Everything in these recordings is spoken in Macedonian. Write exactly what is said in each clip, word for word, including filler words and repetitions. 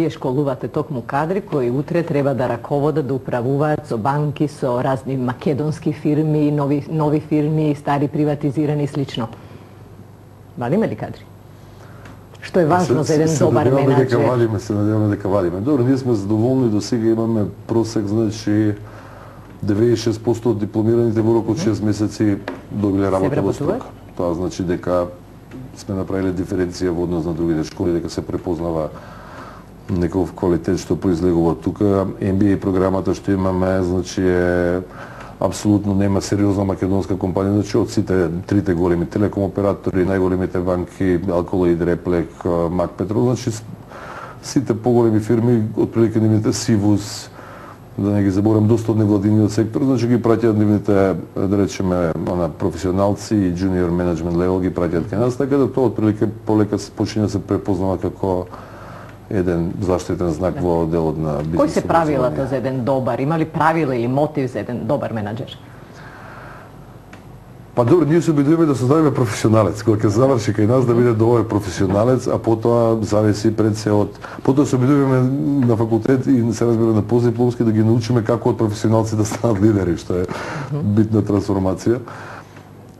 Вие школувате токму кадри кои утре треба да раководат, да управуваат со банки, со разни македонски фирми, нови, нови фирми, стари приватизирани и слично. Вали има ли кадри? Што е важно за еден добар менаџер? Дека валиме, се надеваме дека валиме. Добро, ние сме задоволни, до сега имаме просек, значи деветдесет и шест проценти од дипломираните во рок од шест месеци добиле работа во струка. Тоа значи дека сме направиле диференција во однос на другите школи, дека се препознава некој квалитет што произлегува тука. Ем би ей програмата што имаме, значи е апсолутно нема сериозна македонска компанија, значи од сите трите големи телеком оператори, најголемите банки, Алколоид, Реплек, Мак Петрол, значи сите поголеми фирми, отприлика нивните Сивус, да не ги заборам, доста од невладиниот сектор, значи ги праќаат нивните, да речеме, она професионалци и джуниор менеджмент левел ги праќаат кај нас, така да тоа отприлика полека се почиња да се препознава како еден заштитен знак да. Во делот на бизнес. Кои се правилата за еден добар? Има ли правила или мотив за еден добар менаџер? Па добро, ние се обидуваме да создадеме професионалец. Кога ќе заврши кај нас да биде добар професионалец, а потоа зависи пред се од... Потоа се обидуваме на факултет и се разбира на постдипломски да ги научиме како од професионалци да станат лидери, што е битна трансформација.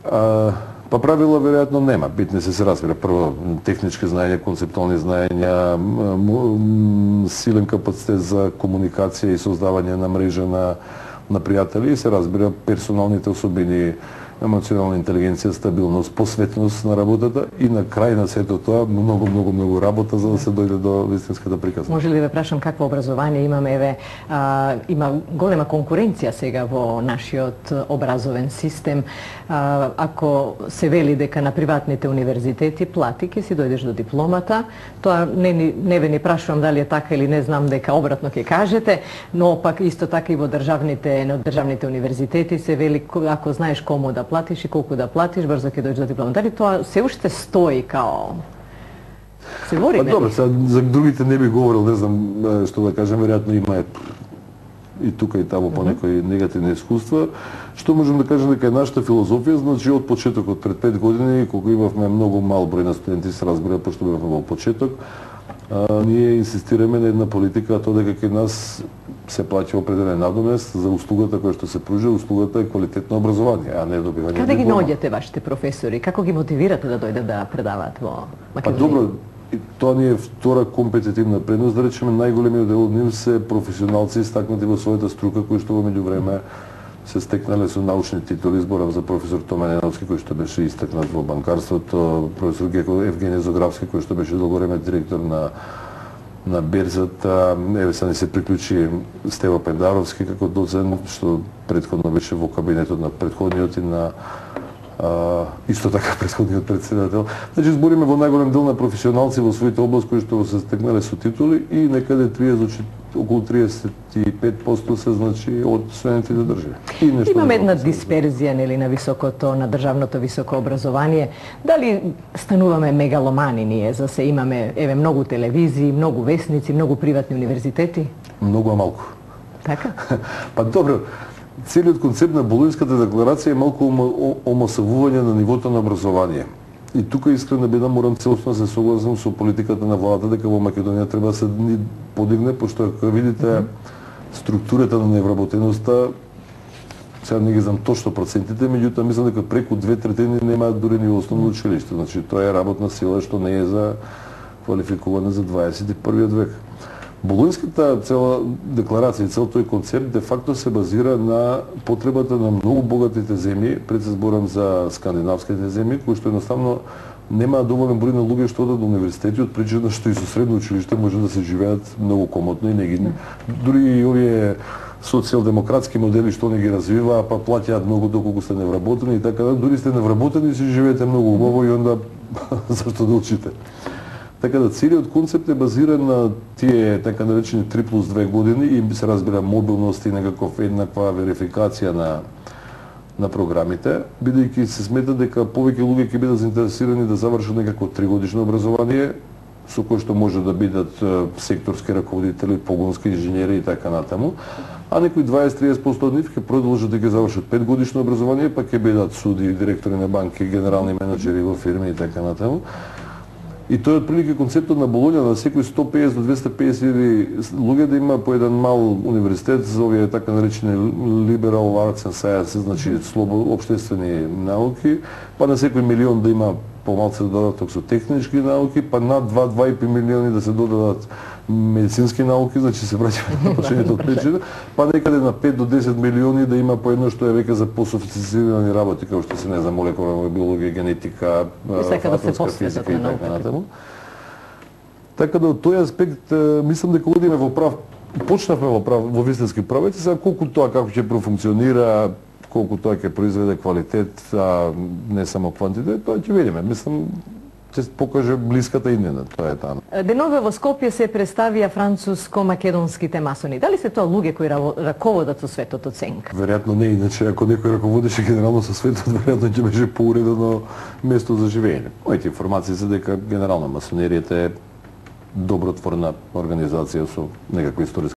А, Па правила веројатно нема, битни се се разбира. Прво технички знаења, концептуални знаења, силен капацитет за комуникација и создавање на мрежа на на пријатели и се разбира персоналните особини, емоционална интелигенција, стабилност, посветност на работата и на крај на сето тоа многу многу многу работа за да се дојде до вистинската приказна. Може ли да ве прашам какво образование имаме? Еве, а, има голема конкуренција сега во нашиот образовен систем. А, ако се вели дека на приватните универзитети плати ќе си дојдеш до дипломата, тоа не не ве ни прашувам дали е така или не, знам дека обратно ќе кажете, но пак исто така и во државните на државните универзитети се вели ако знаеш кому да платиш и колку да платиш, брзо ќе дојдеш до диплома. Дали тоа се уште стои као се вори, па, добро, за, за другите не би говорил, не знам што да кажем, веројатно има и тука и таму по некои негативни искуства. Што можем да кажем дека е нашата филозофија, значи од почетокот пред пет години, кога имавме многу мал број на студенти, се разбира, пошто бевме во почеток, а, ние инсистираме на една политика, тоа дека кај нас се плаќа определен надомест за услугата која што се пружи, услугата е квалитетно образование, а не добивање диплома. Каде ги наоѓате вашите професори? Како ги мотивирате да дојдат да предаваат во Македонија? Па добро, тоа ни е втора компетитивна предност, да речеме најголемиот дел од нив се професионалци истакнати во својата струка кои што во меѓувреме се стекнале со научни титули. Зборам за професор Тома Неновски кој што беше истакнат во банкарството, професор Геко Евгене Зографски кој што беше долго време директор на на берзата, еве сега ни се приклучи Стево Пендаровски како доцент, што претходно беше во кабинетот на претходниот и на а, исто така претходниот председател. Значи збориме во најголем дел на професионалци во своите области кои што се стекнале со титули и некаде триесет, околу триесет и пет проценти се значи од студентите држави. Имаме една дисперзија нели на високото, на државното високо образование. Дали стануваме мегаломани ние за се имаме еве многу телевизии, многу весници, многу приватни универзитети? Многу а малку. Така? Па добро, целиот концепт на Болонската декларација е малку омасовување на нивото на образование. И тука искрено би да морам целосно се согласам со политиката на владата дека во Македонија треба да се подигне, пошто ако видите mm -hmm. структурата на невработеноста, сега не ги знам точно процентите, меѓутоа мислам дека преку две третини немаат дури ни основно училиште. Значи тоа е работна сила што не е за квалификуване за дваесет и првиот век. Болонската цела декларација и цел тој концепт де факто се базира на потребата на многу богатите земји, пред се зборам за скандинавските земји, кои што едноставно немаат доволен број на луѓе што одат до универзитети, од причина што и со средно училиште може да се живеат многу комотно и не ги дури и овие социјалдемократски модели што не ги развиваа, па плаќаат многу доколку сте невработени и така да, дури сте невработени и си живеете многу убаво и онда зашто да учите. Така да целиот концепт е базиран на тие така наречени три плюс две години и се разбира мобилност и некаков еднаква верификација на на програмите, бидејќи се смета дека повеќе луѓе ќе бидат заинтересирани да завршат некако тригодишно образование со кое што може да бидат секторски раководители, погонски инженери и така натаму, а некои дваесет до триесет проценти од нив ќе продолжат да ги завршат петгодишно образование, па ќе бидат суди, директори на банки, генерални менаџери во фирми и така натаму. И тој е отприлика концептот на Болоња, на секој сто и песет до двесте и песет илјади луѓе да има по еден мал универзитет за овие така наречени liberal arts and sciences, значи слободни општествени науки, па на секој милион да има помалце додаток со технички науки, па над два до два и по милиони да се додадат медицински науки, значи се враќаме на почненото од причина, па некаде на пет до десет милиони да има по едно што е веќе за пософистицирани работи, како што се не знам, молекуларна биологија, генетика, атомска физика и така натаму. Така да од тој аспект мислам дека одиме во прав, почнавме во прав во вистински правец, сега колку тоа како ќе профункционира, колку тоа ќе произведе квалитет, а не само квантитет, тоа ќе видиме. Мислам, ќе покаже блиската иднина, тоа е таа. Денове во Скопје се представија француско-македонските масони. Дали се тоа луѓе кои раководат со светот оценка? Веројатно не, иначе ако некој раководеше генерално со светот, веројатно ќе беше поуредено место за живење. Моите информации се дека генерално масонеријата е добротворна организација со некаква историска